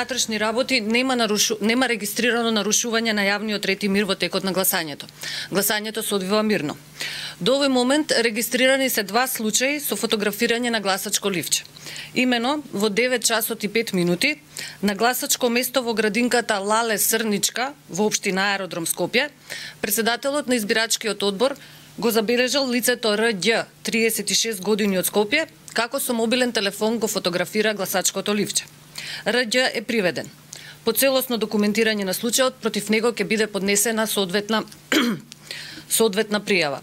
Внатрешни работи нема регистрирано нарушување на јавниот ред и мир во текот на гласањето. Гласањето се одвива мирно. До овој момент регистрирани се 2 случаи со фотографирање на гласачко ливче. Имено во 9 часот и 5 минути на гласачко место во градинката Лале Срничка во општина Аеродром Скопје, председателот на избирачкиот одбор го забележал лицето Рѓ, 36 години од Скопје, како со мобилен телефон го фотографира гласачкото ливче. Рѓ е приведен. По целосно документирање на случајот против него ќе биде поднесена соодветна пријава.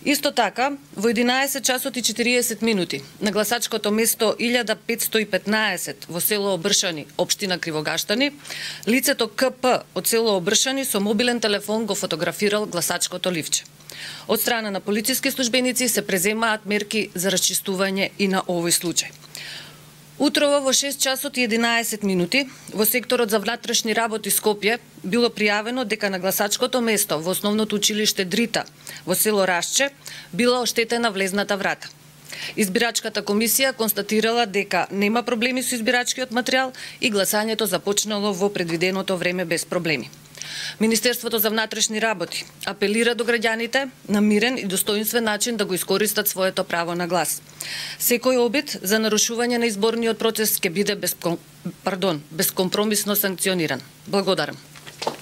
Исто така, во 11 часот и 40 минути на гласачкото место 1515 во село Обршани, општина Кривогаштани, лицето КП од село Обршани со мобилен телефон го фотографирал гласачкото ливче. Од страна на полициски службеници се преземаат мерки за расчистување и на овој случај. Утрово во 6 часот и 11 минути во секторот за внатрешни работи Скопје било пријавено дека на гласачкото место во основното училиште Дрита во село Рашче била оштетена влезната врата. Избирачката комисија констатирала дека нема проблеми со избирачкиот материјал и гласањето започнало во предвиденото време без проблеми. Министерството за внатрешни работи апелира до граѓаните на мирен и достоинствен начин да го искористат своето право на глас. Секој обид за нарушување на изборниот процес ќе биде бескомпромисно санкциониран. Благодарам.